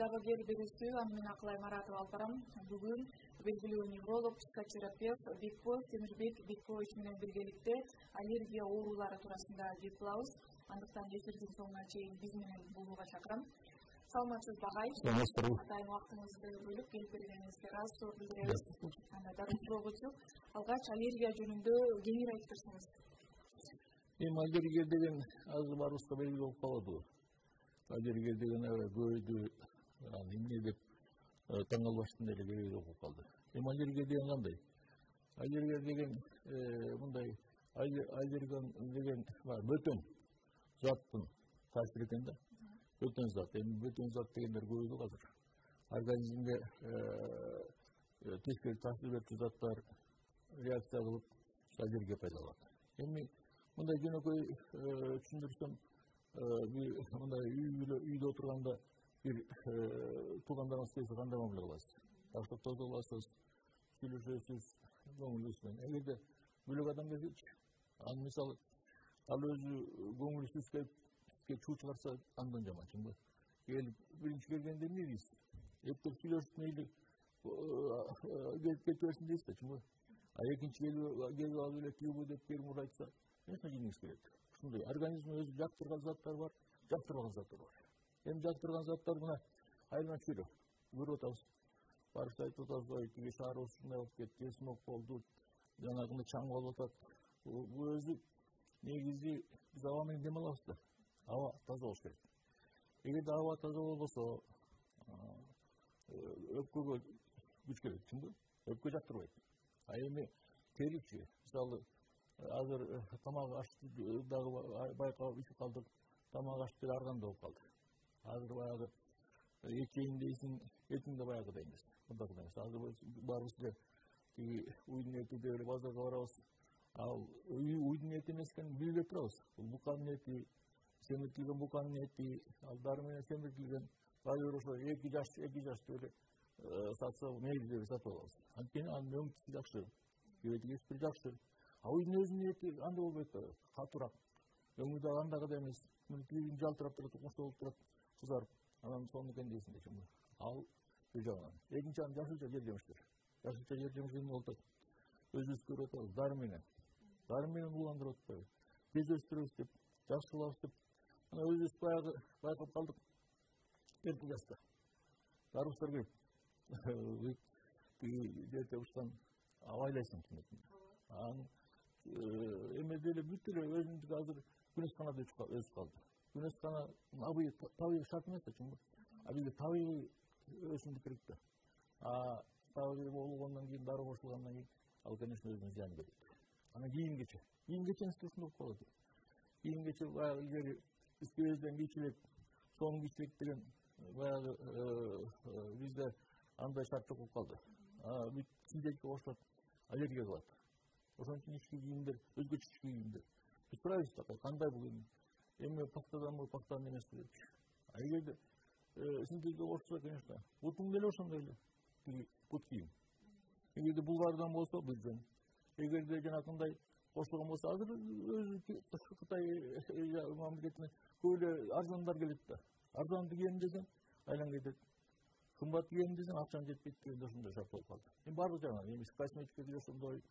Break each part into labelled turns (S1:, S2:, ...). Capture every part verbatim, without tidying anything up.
S1: Дагы берүүсү Амина Акылай Маратова алып барам. Бүгүн белгилүү невролог, психотерапевт Бекбол Темирбек Бекболович менен биргеликте аллергия оорулары туурасында кеп кылабыз. Андыктан эфирдин соңуна чейин биз менен болууга чакырам. Саламатсызбы агай? Атайын убактыңызды бөлүп келип бергениңизге ыраазычылык билдиребиз. Анда дагы суроо көчүп, алгач аллергия жөнүндө кеңири айтып берсеңиз.
S2: Эми аллергия деген азыр баарыбызга белгилүү болуп калды. Аллергия деген көйдү, эмне деп таң калбаштын эле белгилүү болуп калды. Эми аллергия деген кандай? Аллергия деген мындай аллерген деген бөтөн заттын таасири экен да. Бөтөн зат. Эми бөтөн зат дегендер көбөйдү азыр. Организмге тескери таасир берүүчү заттар реакция кылып аллергия пайда болот. Эми мындай жөнөкөй түшүндүрсөм, мындай үйдө отурганда бир туугандарыңыз келсе кандай мамиле кыласыз? Таштап тозо кыласыз, сүйлөшөсүз, көңүлүңүз менен. Эгерде бөлөк адам келсечи, ал мисалы ал өзү көңүлсүз келип сизге чуу чыгарса, андан жаман, чынбы? Келип биринчи келгенде эмне дейсиз? Эптеп сүйлөшүп мейли келип кетип берсин дейсиз да, чынбы? А экинчи келип алып эле түйгү деп бир мур айтса, конечно, жеңиңиз келет. Ушундай организмде өзү жактырган заттар бар, жактырбаган заттар бар. Эми жактырган заттар мына айрман чөйрө көрүп атабыз. Барып айтып атабыз, ой, тиги шаарыбыз ушундай болуп кетти, смог болду, жанагындай чаң болуп атат. Бул өзү негизи биз аба менен дем алабыз да. Аба таза болуш керек. Эгерде аба таза болбосо, өпкөгө күч керек, чынбы? Өпкө жактырбайт. А эми теричи, мисалы азыр тамак ашты дагы байкап ичип калдык. Тамак ашты деле арганда болуп калды. Азыр баягы эт жейин дейсиң, этиң да баягыдай эмес. Мындагыдай эмес. Азыр баарыбыз эле тиги уйдун эти деп эле базарга барабыз. Ал уйдун эти эмес экенин билбей турабыз. Бул буканын эти, семиртилген буканын эти, ал дары менен семиртилген. Кайбир ошо эки жаш, эки жаш деп эле сатса, мейли деп сатып алабыз. Анткени анын өңтүсү жакшы, кебети жакшы. А уйдун өзүнүн эти андай болбойт да, катуураак. Өңү дагы андагыдай эмес. Тилиң жалтырап турат, укмуштуу болуп турат, кызарып. Анан сонун экен дейсиң да, чынбы? Ал бир жагынан. Экинчи жагынан жашылча жер жемиштер. Жашылча жер жемиш эмне болуп атат? Өзүбүз көрүп атабыз, дары менен. Дары менен уландырып атпайбы? Тез өстүрөбүз деп, жакшы кылабыз деп. Мына өзүбүз баягы байкап калдык. Эрте жашта. Дарыбыздар келип, тиги жерде учкан абайлайсың түнөтүн. Анан эме деле бүт эле өзүнүн азыр күнөсканада өсүп калды. Күнөскана табигый шарт эмес да, чынбы? А бизге табигый өсүмдүк керек да. А табигый болгондон кийин, дары кошулгандан кийин, ал, конечно, өзүнүн зыянын берет. Анан кийимгече. Кийимгечеңизде ушундай болуп калат. Кийимгече баягы илгери искебезден кийчилек, сонун кийчилек деген баягы бизде андай шарт жок болуп калды. Бүт синтетика кошулат, аллергия кылат. Ошон үчүн ички кийимдер, өзгөчө ички кийимдер. Биз сурайбыз да, кандай бул эми? Эми пактаданбы, пактан эмеспи депчи. А эгерде синтетика кошулса, конечно, бутуң деле ошондой эле, тиги бут кийим. Эгерде булгардан болсо, бир жөн. Эгерде жанакындай кошулган болсо, азыр өзү Кытай мамлекетине көп эле арзандар келет да. Арзанды кийем десең, айлан кетет. Кымбат кийем десең, акчаң жетпейт дегенде ошондой шарт болуп калды. Эми баардык жагынан, эми косметика деле ошондой,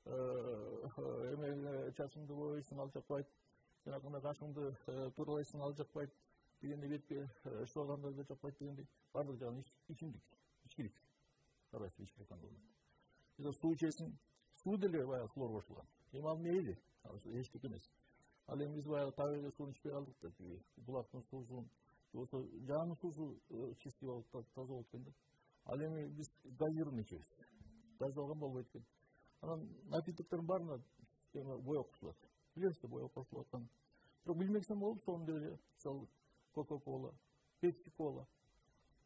S2: эме чачыңды боойсуң, ал жакпайт. Жанакындай кашыңды туралайсың, ал жакпайт. Дегенде бетке шылганда да жакпайт дегендей. Баардык жагынан ичимдик, ичкилик. Карайсың, ичкилик кандай болот. Бизде суу ичесиң, суу деле баягы хлор кошулган. Эми ал мейли, ал эчтеке эмес. Ал эми биз баягы табигый сууну ичпей калдык да, тиги булактын суусун, болсо жаанын суусу чистый болуп, таза болот экен да. Ал эми биз газированный ичебиз. Газдалган болбойт экен. Анан напитоктордун баарына боек кошулат. Билесиз да, боек кошулуп аткан. Бирок билмесем болуп, сонун деле, мисалы, кока-кола, пепси-кола,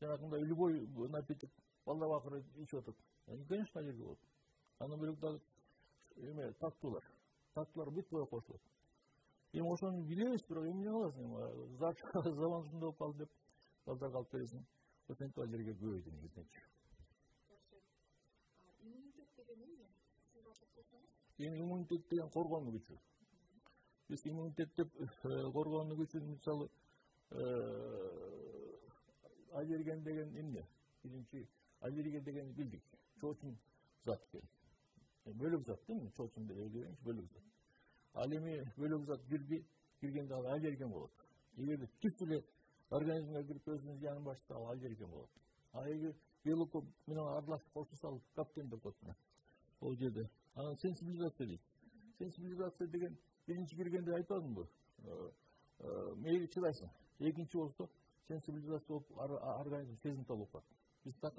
S2: жанагындай любой напиток балдар акыры ичип атат. Конечно, аллергия болот. Андан бөлөк дагы эме таттуулар. Таттуулар бүт боек кошулат. Эми ошону билебиз, бирок эмне кыласың? Зат заман ушундай болуп калды деп балдарга алып бересиң. Ошентип аллергия көбөйдү негизинечи.
S1: Иммунитет деген эмне?
S2: Эми иммунитет деген коргонуу күчү. Биз иммунитет деп коргонуу күчүн мисалы аллерген деген эмне? Биринчи аллергия дегенди билдик. Чоочун зат экен. Бөлөк зат дейм, чоочун дегенчи бөлөк зат. Ал эми бөлөк зат кирди, киргенде ал аллерген болот. Эгерде түз эле организмге кирип өзүнүн зыянын баштаса ал аллерген болот. А эгер белок менен аралашып кошуп салып каптен деп коет мына. Ол жерде анан сенсибилизация дейт. Сенсибилизация деген биринчи киргенде айтпадымбы? Мейли чыдайсың. Экинчи болсо сенсибилизация болуп организм сезимтал болуп калат. Биз так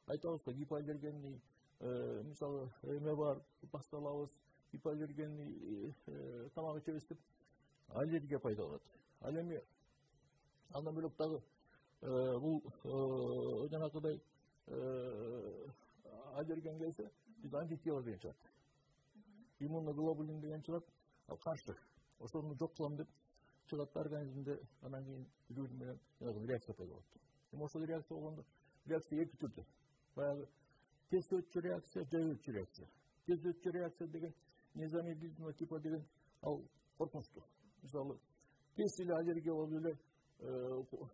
S2: айтабыз го гипоаллергенный мисалы эме бар, басталабыз, гипоаллергенный тамак ичебиз деп аллергия пайда болот. Ал эми андан бөлөк дагы бул жанакыдай аллерген келсе биз антитела деген чыгат. Иммуноглобулин деген чыгат, ал каршы. Ошону жок кылам деп чыгат организмде, анан кийин жүрүм менен реакция пайда болот. Эми ошол реакция болгондо реакция эки түрдүү. Баягы тез өтчү реакция, жай өтчү реакция. Тез өтчү реакция деген незамедлительного типа деген ал коркунучтуу. Мисалы, тез эле аллергия болуп эле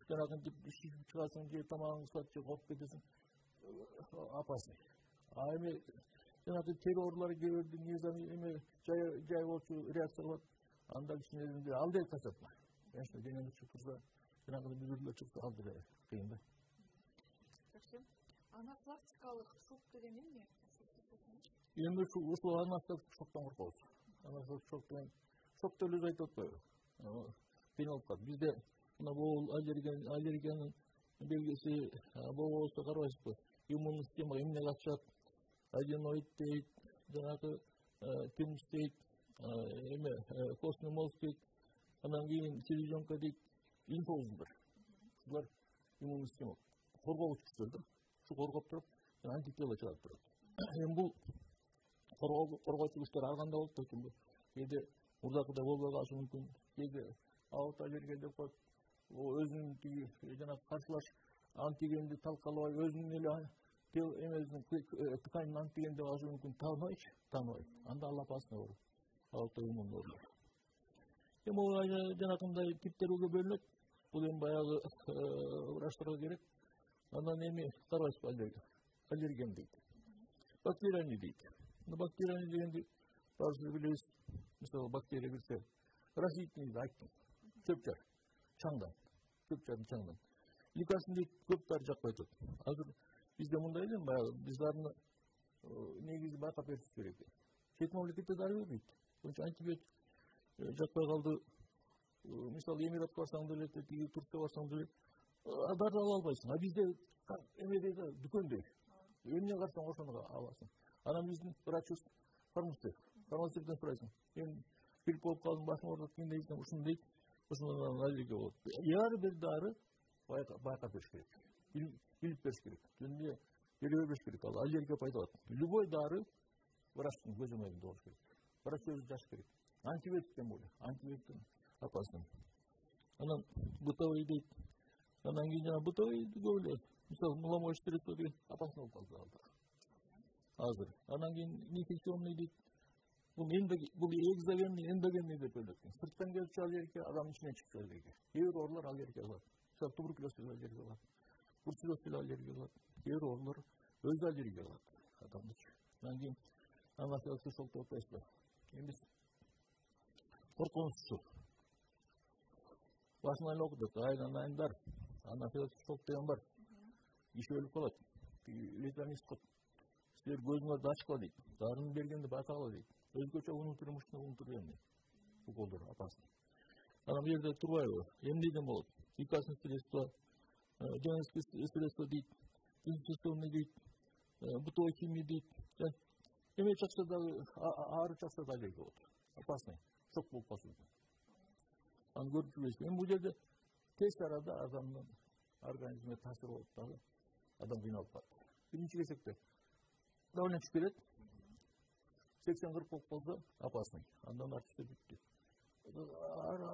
S2: жанагынтип шишип чыгасың же тамагыңды сатып же коп кетесиң, опасный. А эми жанагы тери оорулары кээ незами эме жай жай болчу реакция кылат. Анда кичине ал деле касатма. Конечно, денеңде чыгып турса, жанагы бүлдүрлөр чыкса ал деле кыйын да.
S1: Жакшы. Анафилактикалык шок деген эмне?
S2: Эми ушул анафилактик шоктон коркобуз. Анафилактик шок деген шок деп эле айтып атпайбы? Кыйын болуп калат. Бизде мына бул аллерген аллергиянын белгиси болбосо карабайсызбы? Иммундук система эмне катышат? Аденоид дейт, жанагы тинч дейт, эме костный мозг дейт, анан кийин селезенка дейт, лимфа узулдар. Булар иммундук система коргогуч күчтөр да. Ушу коргоп туруп, антитела чыгарып турат. Эми бул коргоочу күчтөр ар кандай болуп турат. Кээде мурдакыдай болбой калышы мүмкүн. Кээде аутоаллергия деп коюп, өзүнүн тиги жанагы каршылаш антигенди талкалабай өзүнүн эле тел эмесин тканын антиген деп алышы мүмкүн. Тааныбайчы, тааныбай. Анда ал опасный оору. Аутоиммун оору. Эми бул жанакындай типтерге бөлүнөт. Бул эми баягы врачтарга керек. Анан эми карабайсызбы аллерген? Аллерген дейт. Бактериальный дейт. Бактериальный дегенди баарыбыз билебиз. Мисалы бактерия кирсе, растительный айттым. Чөп-чар, чаңдан. Чөп-чар чаңдан. Лекарсын дейт, көп дары жакпай турат. Азыр бизде мындай эле баягы биз дарыны негизи байкап беришибиз керек. Чет мамлекетте дары бербейт. Ошо антибиотик жакпай калды. Мисалы Эмиратка барсаң деле, тиги Турцияга барсаң деле дары ала албайсың. А бизде эмеде да дүкөндө эмне карасаң ошону аласың. Анан биздин врачыбыз фармацевт. Фармацевттен сурайсың. Мен грипп болуп калдым, башым ооруп кийин дейсиң, ушуну дейт. Ошондон аллергия болот. Ар бир дары байкап бериш керек. Билип бериш керек. Эмне бере бербеш керек. Ал аллергия пайда болот. Любой дары врачтын көз өмөрүндө болуш керек. Врач өзү жазыш керек. Антибиотиктен болду. Антибиотиктен опасный. Анан бытовой дейт. Анан кийин жана бытовой көп эле. Мисалы, меломоочный средство деген опасный болуп калды. Азыр. Анан кийин инфекционный дейт. Бул бул экзогенный, эндогенный деп бөлөт. Сырттан келип чыгып аллергия, адамдын ичинен чыгып чыгат аллергия. Кээ бир оорулар аллергия кылат. Мисалы, туберкулез деле аллергия кылат. Бруцеллез деле аллергия кылат. Кээ бир оорулар өзү аллергия кылат адамдычы. Анан кийин анафилактик шок деп атпайсызбы? Эми коркунучсу. Башынан эле окудук, айынан айын бар. Анафилактик шок деген бар. Киши өлүп калат. Летальный исход. Силер көзүңөрдү ачкыла дейт. Дарыны бергенди байкагыла дейт. Өзгөчө внутренний внутренний уколдор опасный. Анан бул жерде турбайбы? Эмнеден болот? Лекарственное средство, женский средство дейт, инфекционный дейт, бытовой химия дейт. Эме чакса дагы ары чакса да аллергия болот. Опасный. Шок болуп калышы мүмкүн. Аны көрүп жүрбөйсүз. Эми бул жерде тез арада адамдын организмине таасир болуп дагы адам кыйналып калат. Биринчи кезекте давление түшүп кетет. сексен кырк болуп калса опасный. Андан артысы бүттү.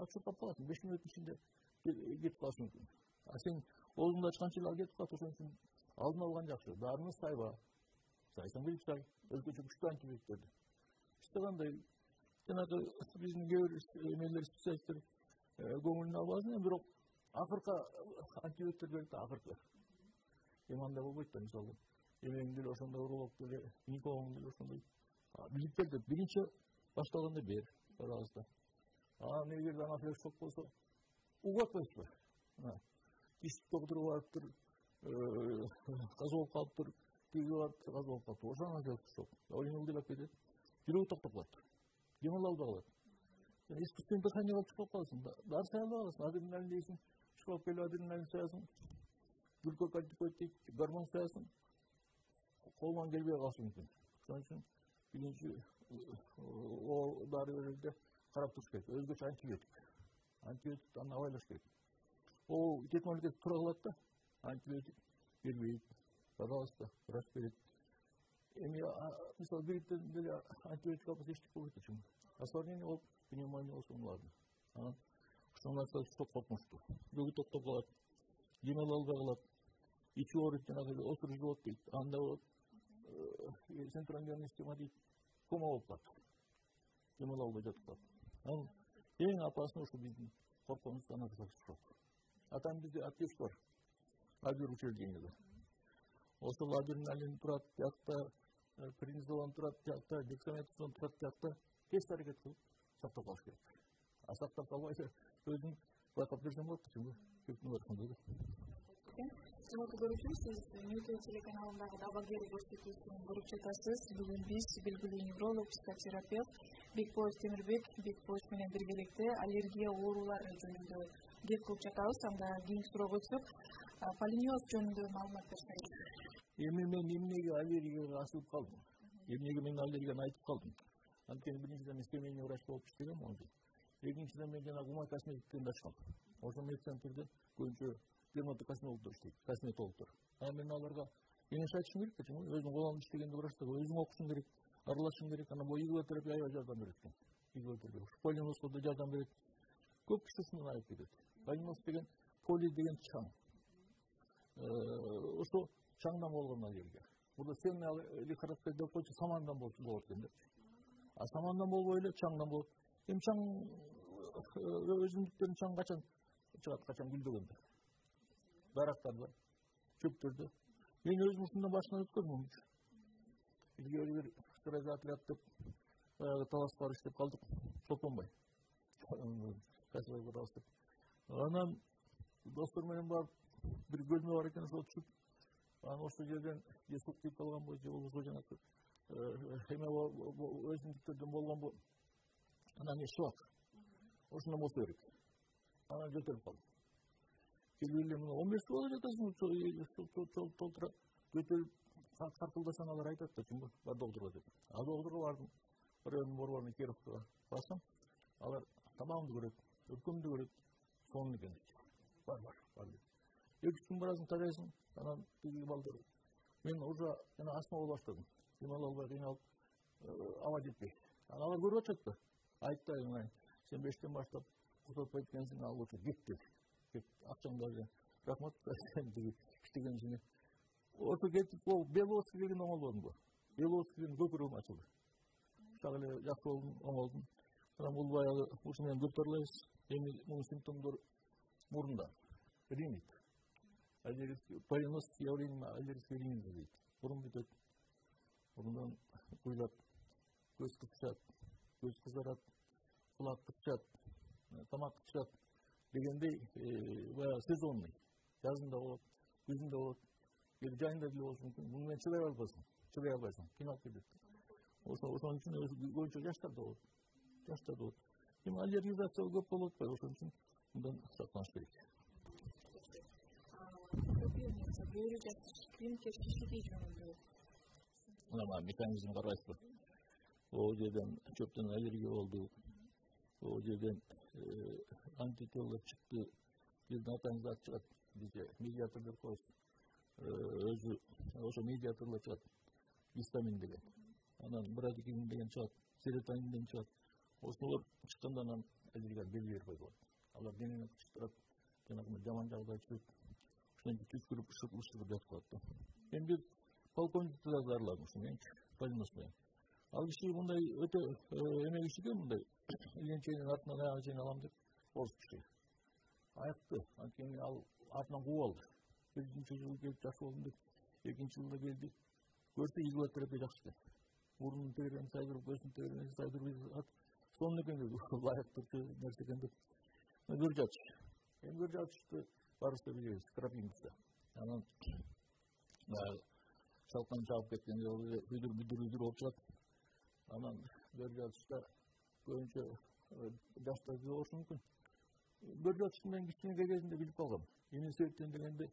S2: Ачып каласың, беш мүнөттүн ичинде кетип калышы мүмкүн. А сен оозуңду ачканча эле кетип калат, ошон үчүн алдын алган жакшы. Дарыны сайба. Сайсаң бир сай, өзгөчө күчтүү антибиотиктерди. Бизде кандай жанагы биздин кээ бир эмелер специалисттер көңүлүнө албасын, бирок акыркы антибиотиктер берет да, акыркы. Эми андай болбойт да, мисалы. Эмең деле ошондой уролог деле, гинекологуң деле ошондой. Билип келди, биринчи башталганда бер, пожалуйста. А эгер анафилаксис жок болсо, угатпайсызбы? Тиш доктуру барыптыр, каза болуп калыптыр, тиги барып каза болуп калыптыр. Ошо анафилаксис жок. Ойнул деп келет. Жүрөгү токтоп калат. Демал албай калат. Искусственный дыхание кылып чыгып каласың. Дары сай албай каласың. Адреналин дейсиң, чыгып келип адреналин саясың. Глюкокортикоид дейт, гормон саясың. Колунан келбей калышы мүмкүн. Ошон үчүн биринчи о дары берилде карап туруш керек. Өзгөчө антибиотик. Антибиотикти аны абайлаш керек. О тет мамлекет тура кылат да, антибиотик бербейт. Пожалуйста, врач берет. Эми мисалы грипптен деле антибиотик албаса эчтеке болбойт да. Осложнение болуп, пневмония болсо ладно. Ошол нарса çok коркунучтуу. Жүрөгү токтоп калат, демал албай калат, ичи ооруйт, жанагы осур живот дейт. Анда болот центральный нервный система дейт, кома болуп калат. Демал албай жатып калат. Эң опасный ошо биздин коркунучубуз анафилаксис жок. Атам бизде аптечка бар. Лагерь учреждениеде. Ошол адреналин турат тиякта, преднизолон турат тиякта, дексаметазон турат тиякта. Тез аракет кылып сактап калыш керек. А сактап калбайса өзүң байкап берсең болот, чынбы? Көптүн барысында да.
S1: Сыйматтуу көрүүчү, сиз Ньютон телеканалындагы Дабагер көрсөтүүсүн көрүп жатасыз. Бүгүн биз белгилүү невролог, психотерапевт Бекболов Темирбек Бекболов менен биргеликте аллергия оорулары жөнүндө кеп кылып жатабыз. Анда кийинки суроого өтсөк, полинез жөнүндө маалымат берсеңиз.
S2: Эми мен эмнеге аллергияга асылып калдым? Эмнеге мен аллергияны айтып калдым? Анткени биринчиден мен семейный врач болуп иштегем он жыл. Экинчиден мен жана Гумай косметиктерди ачкам. Ошо медцентрде көбүнчө дерматокосметологдор иштейт, косметологдор. А мен аларга кеңеш айтышым керек да, өзүң колуңда иштегенде врачтарга өзүң окушуң керек, аралашышың керек. Анан бул игилотерапия аябай жардам берет экен. Игилотерапия. Полинозго да жардам берет. Көп киши ушундан айып кетет. Полиноз деген поли деген чаң. Ошо чаңдан болгон аллергия. Бул сенный лихорадка деп койчу, самандан болот экен деп. А самандан болбой эле чаңдан болот. Эми чаң өзүндүктөрүн чаң качан чыгат, качан гүлдөгөндө. Дарактарда, чөптөрдө. Мен өзүм ушундан башынан өткөрмүн. Илгери бир стройзотряд деп баягы талас бар иштеп калдык, Чолпонбай. Касыбай Куралс деп. Анан достор менен барып бир бөлмө бар экен, ошо түшүп, анан ошол жерден деструктив калганбы, же болбосо жанагы эме өзүндүктөрдөн болгонбу, анан не шок. Ошондон болсо керек. Анан жөтөлүп калдым. Келип эле он беш жыл жатасың, толтура жөтөлүп картылдасаң алар айтат да, чынбы, бар докторго деп. А докторго бардым, райондун борборуна Кировкага барсам, алар тамагымды көрөт, өпкөмдү көрөт, сонун экен дейт. Бар, бар, бар дейт. Эки үч күн барасың, тарайсың, анан тиги балдар. Мен уже жана астма боло баштадым. Демал албай кыйналып, аба жетпей. Анан алар көрүп атышат да. Айтты, сен бештен баштап кутатпайт экенсиң, ал лучше кет деп. Кет, акчаңды рахмат, сен иштеген ишине. Ошо кетип, ол Беловский деген оңолбодум го. Беловскийдин көпүрөгүм ачылды. Так эле жакшы болдум, оңолдум. Анан бул баягы ушу менен көтөрүлөбүз. Эми мунун симптомдору мурунда. Ринит. Полинез явлением аллергического ринита дейт. Мурун бүтөт. Мурундан куйлап, көз кычат, көз кызарат, кулак кычат, тамак кычат дегендей баягы сезонный. Жазында болот, күзүндө болот, кээде жайында деле болушу мүмкүн. Муну менен чыдай албайсың, чыдай албайсың, кыйналып кетет. Ошон үчүн көбүнчө жаштарда болот. Жаштарда болот. Эми аллергизация көп болуп атпайбы, ошон үчүн мындан сактаныш керек.
S1: Бөөрү клиникке шишиги жөнүндө.
S2: Мына механизм карайсызбы? Ол жерден чөптөн аллергия болду. Ол жерден антитело чыкты. Бирден атаңызда чыгат. Бизде медиатор деп коебуз. Өзү ошо медиаторлор чыгат. Гистамин деген. Анан брадикин деген чыгат. Серотонин чыгат. Ошолор чыкканда анан аллергия белгилери пайда болот. Алар денени кычтырат, жанагы жаман жагдай түшөт. Ошондон түшкүрүп ышырып жатып калат да. Мен бир полковникти да дарыладым ушуменчи, полинез менен. Ал киши мындай өтө эме киши да, мындай иленченин артынан аяга чейин алам деп орус киши. айыкты. Анткени ал артынан кууп алды. Биринчи жылы келип жакшы болдум деп, экинчи жылда келди. Көрсө изотерапия жакшы экен. Мурунун тегерени сайдырып, көзүнүн тегерени сайдырып, сонун экен деп, ылайыктуу нерсе экен деп. Көрүп жатыш. Эми көрүп жатышты барыбыз да билебиз, крапивница. Анан шалкан чагып кеткенде үйдүр бүдүр үйдүр болуп чыгат. Анан көрүп жатышта көбүнчө жаштар болушу мүмкүн. Көрүп жатыштын мен кичинекей кезинде билип калгам. Эмне себептен дегенде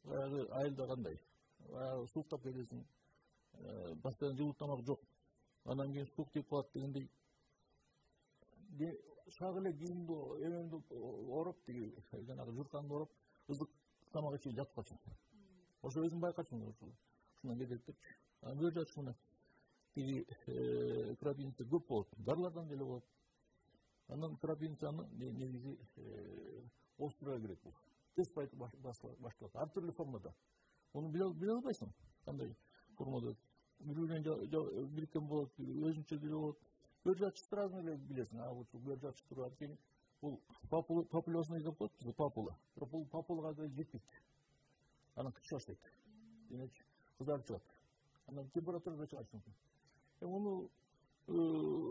S2: баягы айылда кандай, баягы сууктап кетесиң, постоянно жылуу тамак жок. Анан кийин суук тип калат дегендей шак эле кийимди эмемди ороп, тиги жанагы журканды ороп, ызык тамак ичип жатып калчумун. Ошо өзүм байкачумун, ушундан кетет депчи. Анан көрүп жатыш мына тиги крапивница көп болот, дарылардан деле болот. Анан крапивницаны негизи островго кирет бул. Тез башталат, ар түрдүү формада. Муну биле албайсың, кандай формада. Бири-биринен бириккен болот, өзүнчө деле болот. Көрүп жатыш сразу эле билесиң, а бул көрүп жатыш турат экен. Бул популосный деп коет бизде, папула. Бирок бул папулага да жетпейт. Анан кычы баштайт. Демекчи, кызарып чыгат. Анан температурада чыгышы мүмкүн. Эми муну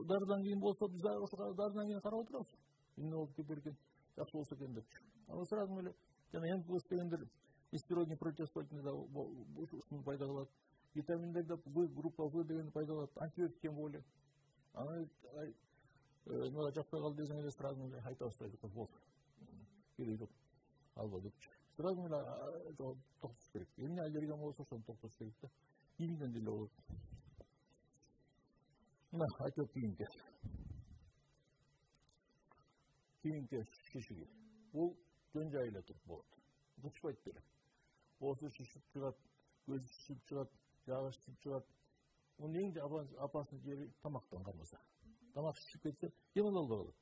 S2: дарыдан кийин болсо, биз ошо дарыдан кийин карап отурабыз. Эмне болуп кетер экен, жакшы болсо экен депчи. Анан сразу эле жана эң көп дегендер нестероидный противовоспалительный да ушуну пайда кылат. Витаминдерде В группа В дегенди пайда кылат, антибиотик тем более. Анан мага жакпай калды десең эле сразу эле айта баштайт, болду. Кереги жок. Алба депчи. Сразу эле токтотуш керек. Эмне аллергия болсо ошону токтотуш керек да. Кийимден деле болот. Мына айтып кийимге. Кийимге шишиги. Бул жөн жай эле туруп болот. Кычпайт деле. Оозу шишип чыгат, көзү шишип чыгат, жагы шишип чыгат. Мунун эң опасный жери тамактан кармаса. Тамак шишип кетсе, дем ала албай калат.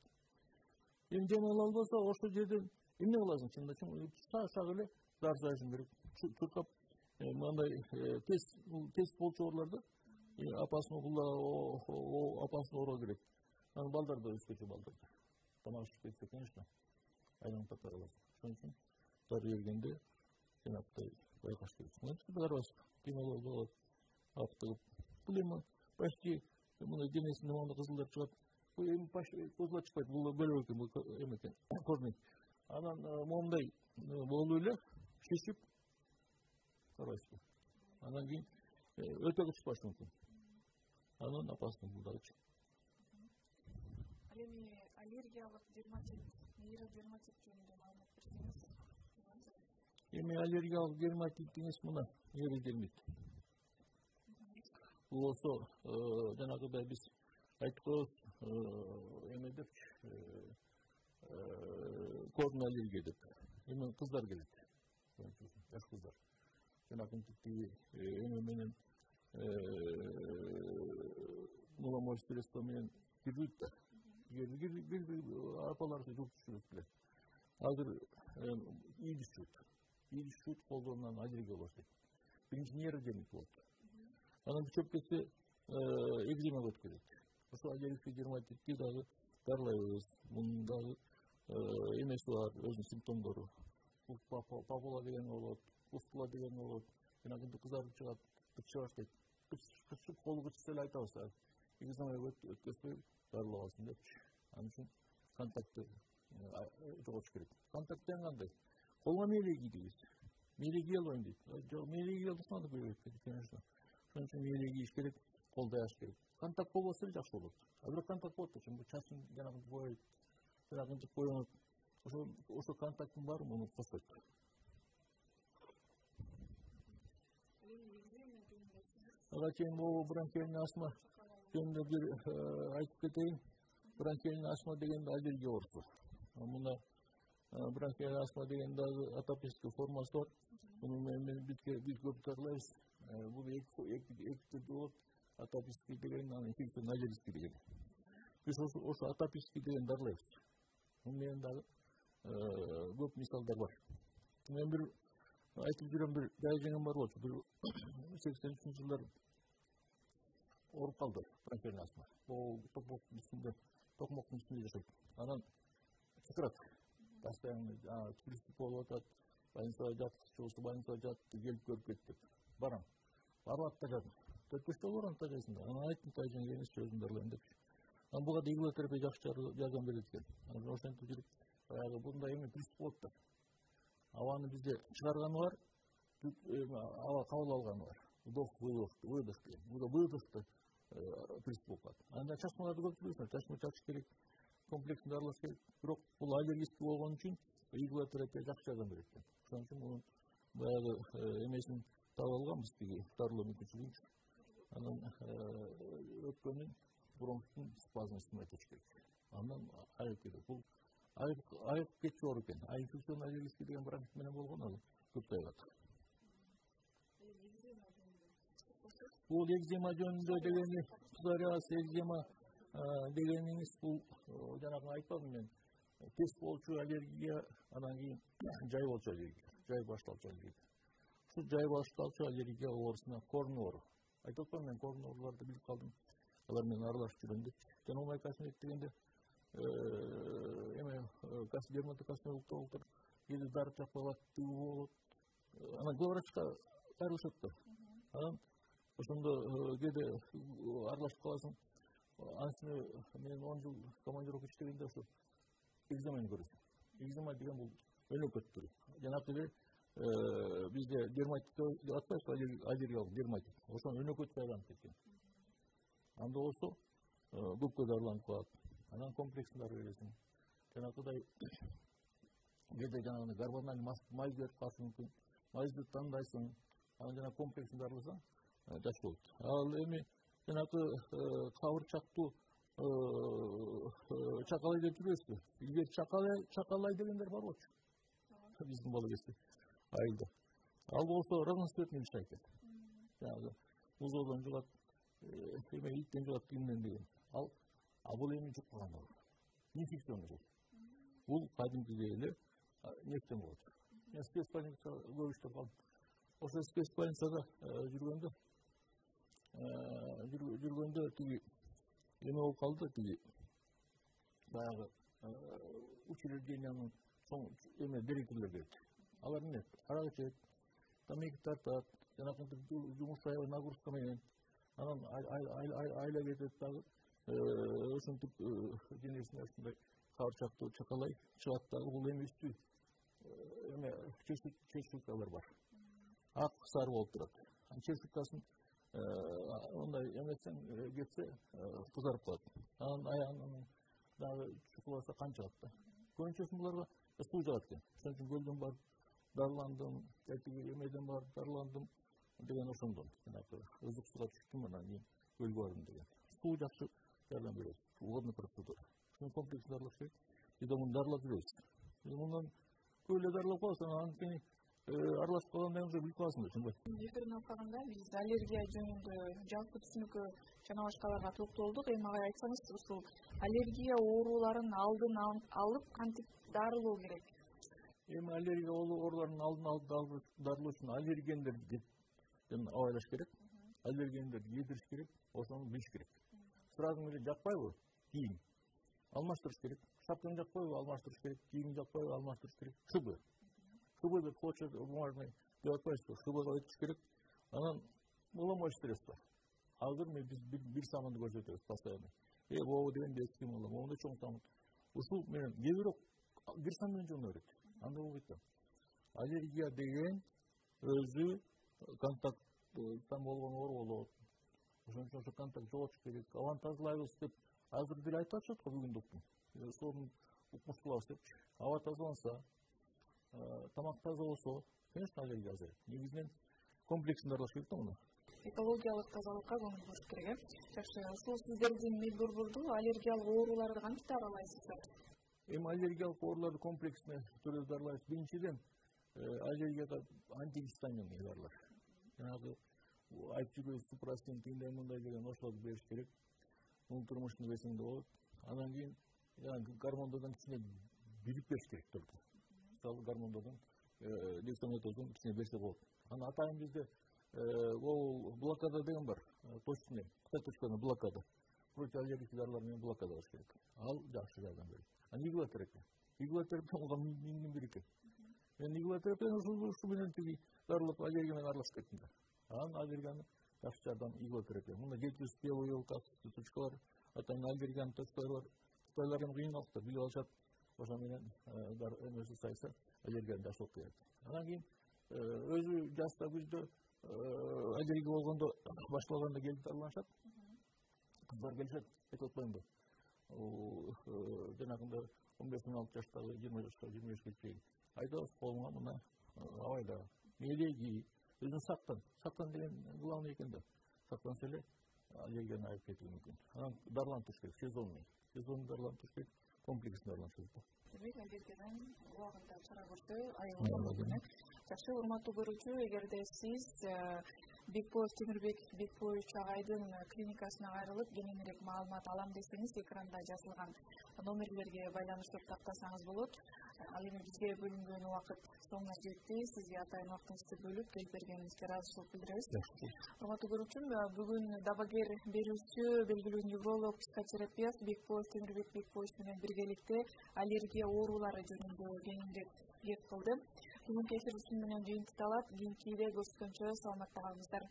S2: Эми дем ала албаса, ошол жерден эмне кыласың? Чынында шак эле зар салышың керек. Чуркап, мындай тез тез болчорлордо апасын апасын ороо керек. Анан балдар да өзгөчө балдар. Тамак шишип кетсе, конечно, айланып таппай каласың. Ошон үчүн дары бергенде жанагындай байкаш керек. Мына барабыз, дем ала албай калат. Аптыгып. Бул эми почти мына денесинде моундай кызылдар чыгат. Бул эми козула чыкпайт, бул бөлөк экен, бул эме экен, корный. Анан моундай болуп эле шишип карайсызбы. Анан кийин өтө кычпашы мүмкүн. Анан апасының бул дагычы.
S1: Ал эми аллергиялык дерматит, нейродерматит жөнүндө маалымат берсеңиз.
S2: Эми аллергиялык дерматит дегенс мына нейродермит. Бул болсо жанагыдай биз айтып коебуз эме депчи, корный аллергия деп. Эми кыздар келет. Жаш кыздар. Жанагынтиги эме менен муламоль средство менен кирбейт да. Бир апаларды жуп түшүрүп билет. Азыр ийди түшүрөт. Ийди түшүрөт, колдорунан аллергия баштайт. Биринчи нейродермит болот. Анан чөп кетсе экзема өтүп кетет. Ошо аллергик дерматитти дагы дарылайбыз. Мунун дагы эмеси бар, өзүнүн симптомдору. Папула деген болот, пустула деген болот. Жанагынтип кызарып чыгат, кычы баштайт. Кычып колу кычса эле айтабыз. Экзема өткөзбөй дарылабасын депчи. Анын үчүн контактты жоготуш керек. Контакт деген кандай? Колго мээлей кийдиңиз. Мээлей кие албайм дейт. Жок, мээлей кие алсаң да көбөйт, конечно. Ошон үчүн мээлей кийиш керек, кол даяш керек. Контакт болбосо эле жакшы болот. А бирок контакт болот да, чын чачын жанагынтип боёйт, жанагынтип боёнот. Ошо ошо контакттын баары муну косот. Ага чейин могу бронхиальный астма жөнүндө бир айтып кетейин. Бронхиальный астма деген аллергия оорусу. Мына бронхиальный астма деген дагы атопический формасы бар. Муну менен биз көп дарылайбыз. Бул эки түрдүү болот. Атопический деген, анан инфекционный деген. Биз ошо атопический деген дарылайбыз. Муну менен дагы көп мисалдар бар. Мен бир айтып жүрөм, бир жай жеңем бар болчу. Бир сексен үчүнчү жылдар ооруп калды бронхиальный астма. Бул токмоктун үстүндө, токмоктун үстүндө жашайт. Анан чакырат. постоянно приступ болуп атат, больницага жаткычы болсо больницага жатты, келип көрүп кет деп барам. Барып аттажадым. төрт беш жолу барам тажайсың да. Анан айттым, тажайын келиңизчи, өзүм дарылайм депчи. Анан буга да иглотерапия жакшы жардам берет экен. Анан ошентип жүрүп, баягы мындай эме приступ болуп да. Абаны бизде чыгарганы бар, аба кабыл алганы бар. Вдох, выдох, выдох деген. Буда выдохто приступ болуп калат. Анда чачмаларды көп билесиңер, чачма чачыш керек, комплексин дарылаш керек. Бирок бул аллергический болгон үчүн иглотерапия жакшы жардам берет экен. Ошон үчүн мунун баягы эмесин таап алганбыз, тиги дарылоо мүмкүнчүлүгүн. Анан өпкөнүн бронхтун спазмысын этиш керек. Андан айыгып кетет. Бул айыгып кетчү оор экен. А инфекционный аллергический деген бронхит менен болгон ал көп тайгат. Бул экзема жөнүндө дегени, псориаз, экзема дегениңиз бул жанагы айтпадым мен. Тест болчу аллергия, анан кийин жай болчу аллергия, жай башталчу аллергия. Ушул жай башталчу аллергия оорусуна корн оору. Айтып атпаймынбы, мен корн ооруларды билип калдым. Алар менен аралашып жүрөм деп. Жанагы косметик дегенде эме дерматокосметологдор кээде дары чакпагат, тыгуу болот. Анан главврачка кайрылышат да. Анан ошондо кээде аралашып каласың. Анысыны мен он жыл командировка иштегенде ошо экземени көрөсүң. Экзема деген бул өнөкөт түрү. Жанагы бизде дерматит деп атпайбызбы, аллергиялык дерматит. Ошон өнөкөт байланып кеткен. Анда болсо көпкө дарыланып калат. Анан комплексин дары бересиң. Жанагыдай кээде жанагы гормональ май берип калышы мүмкүн. Майды тандайсың. Анан жана комплексин дарыласаң жакшы болот. Ал эми жанагы кабырчактуу чакалай деп жүрөсүзбү? Илгери чакалай чакалай дегендер бар болчу. Биздин бала кезде айылда. Ал болсо разноцветный лишай экен. Жанагы музоодон жугат, эме иттен жугат, кимден деген. Ал а бул эми жуккан ал. Инфекционный бул. Бул кадимки эле нефтен болот. Мен спецбольницада көп иштеп калдым. Ошо спецбольницада жүргөндө жүргөндө тиги эме болуп калды, тиги баягы учреждениянын чоң эме директорлор келди. Алар эмне? Арак ичет, тамеки тартат, жанагы жумуштай нагрузка менен. Анан айла кетет дагы. Ошентип денесине ушундай кабырчактуу чакалай чыгат дагы. Бул эми үстү эме чечилкалар бар. Ак сары болуп турат. Чечилкасын ондай эметсең кетсе кызарып калат. Анан аягынан дагы чукуласа кан чыгат да. Көбүнчөсү буларга суу жагат экен. Ошон үчүн көлдөн барып дарыландым, тетиги эмеден барып дарыландым деген ошондон. Жанагы ызык сууга түштүм, анан кийин көлгө бардым деген. Суу жакшы жардам берет. Водный процедура. Ошон комплекс дарылаш керек. Биз муну дарылап жүрөбүз. Мундан көп эле дарылап каласың, анан кийин аралашып калгандан кийин билип каласың да, ошондой.
S1: Эфирин алганда биз аллергия жөнүндө жалпы түшүнүккө жана башкаларга токтолдук. Эми ага айтсаңыз, ушул аллергия ооруларын алдын алып кантип дарылоо керек?
S2: Эми аллергия ооруларынын алдын алып дарылоо үчүн аллергендерди абайлаш керек. Аллергендерди едириш керек, ошону билиш керек. Сразу эле жакпайбы? Кийим алмаштырыш керек. Шапканы жакпайбы? Алмаштырыш керек. Кийим жакпайбы? Алмаштырыш керек. Шыбы. Шыбы деп почерк бумажный деп атпайбызбы? Шыбыга өтүш керек. Анан уламой средства. Азыр мен биз бир саманды көрсөтөбүз постоянно. Э, могу дегенде эски мала, могунда чоң саман. Ушул менен кээ бирок бир сан менен жууна берет. Анда болбойт да. Аллергия деген өзү контакттан болгон оору болот. Ошон үчүн ошо контакт жоготуш керек. Абаны тазалайбыз деп азыр деле айтып атышат го бүгүн доктор. Сону укмуш кылабыз депчи. Аба тазаланса, тамак таза болсо, конечно, аллергия азайат. Негизинен комплексин дарылаш керек да муну.
S1: Экологиялык тазалыкка көңүл буруш керек. Жакшы, ушул сиздердин Медбурбурду аллергиялык ооруларды кантип дарылайсыздар?
S2: Эми аллергиялык ооруларды комплексине түрдө дарылайбыз. Биринчиден аллергияга антигистаминный дарылар. Жанагы айтып жүрбөйбүз, супрастин, тигиндей мындай деген ошолорду бериш керек. Унутурмушну берсең да болот. Анан кийин гормондордон кичине билип бериш керек только. Мисалы гормондордон дексаметазон кичине берсе болот. Анан атайын бизде ол блокада деген бар. Точный, точный блокада. Противоаллергический дарылар менен блокада болуш керек. Ал жакшы жардам берет. Анан иглотерапия. игилотерапия болгон миңдин бири экен. Мен игилотерапияны ушул менен тиги дарылап аллергия менен аралашып кеттим да. Анан аллергияны жакшы жардам игилотерапия. Мында жети жүз белый точкалар, атайын аллергиянын точкалары бар. Кытайлар эми кыйналып билип алышат. Ошо менен эмеси сайса аллергияны жакшы болуп кетет. Анан кийин өзү жаста күздө аллергия болгондо башталганда келип дарыланышат. Кыздар келишет, айтып атпаймынбы? Жанагында он беш он алты жаштагы, жыйырма жашка, жыйырма бешке чейин айдабыз колуңа мына абайда мелеги өзүң сактан. Сактан деген главный экен да. Сактанса эле аллергияны айып кетүү мүмкүн. Анан дарыланып туруш керек, сезонный. Сезонный дарыланып туруш керек, комплексно дарыланышат да.
S1: Демек, аллергиядан убагында чара көрсө, айыгуу. Жакшы, урматтуу көрүүчү, эгерде сиз Бекбоз Темирбек Бекбоевич агайдын клиникасына кайрылып, кененирээк маалымат алам десеңиз, экранда жазылган номерлерге байланыштырып тактасаңыз болот. Ал эми бизге бөлүнгөн убакыт соңуна жетти. Сизге атайын убактыңызды бөлүп келип бергениңизге ыраазычылык билдиребиз. Урматтуу көрүүчүм, бүгүн дабагер берүүчү, белгилүү невролог, психотерапевт Бекбоз Темирбек Бекбоевич менен биргеликте аллергия оорулары жөнүндө кеңирээк кеп кылды. Бүгүнкү эфир ушун менен жыйынтыкталат. Кийинкиде көрүшкөнчө саламатта калыңыздар.